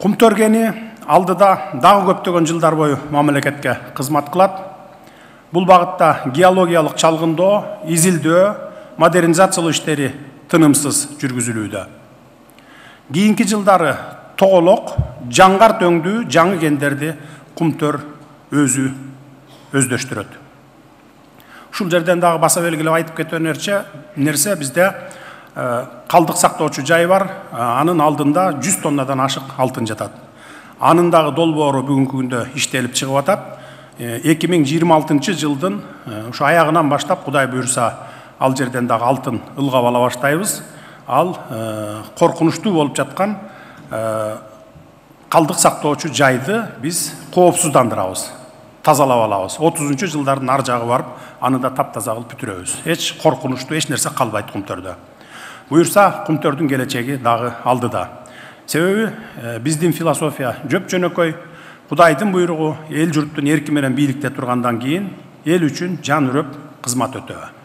Кумтөр кени алдыда дагы көптөгөн жылдар бою мамлекетке кызмат кылат. Бул багытта геологиялык чалгындоо, изилдөө, модернизациялоо иштери тынымсыз жүргүзүлүүдө. Кийинки жылдары тоголок, жаңгар төңдүү жаңы кендерди Кумтөр өзү өздөштүрөт. Ушул жерден дагы баса белгилеп айтып кеткен нерсе бизде калдык сактоочу жай бар. Анын алдында 100 тоннадан ашык алтын жатат. Анын дагы долбоору бүгүнкү күндө иштелип чыгып атат. 2026 жылдын ушу аягынан баштап Кудай буйруса ал жерден дагы алтын ылгап ала баштайбыз. Ал коркунучтуу болуп жаткан калдык сактоочу жайды биз коопсуздандырабыз, тазалап алабыз. 30 жылдардын ар жагы барып, аны да таптаза кылып бүтүрөбүз. Эч коркунучтуу эч нерсе калбайт Кумтөрдө. Буйруса Кумтөрдүн келечеги дагы алдыда. Себеби биздин философия жөп-жөнөкөй, Кудайдын буйругу эл журттун эрки менен бийликте тургандан кийин эл үчүн жан үрөп кызмат өтөө.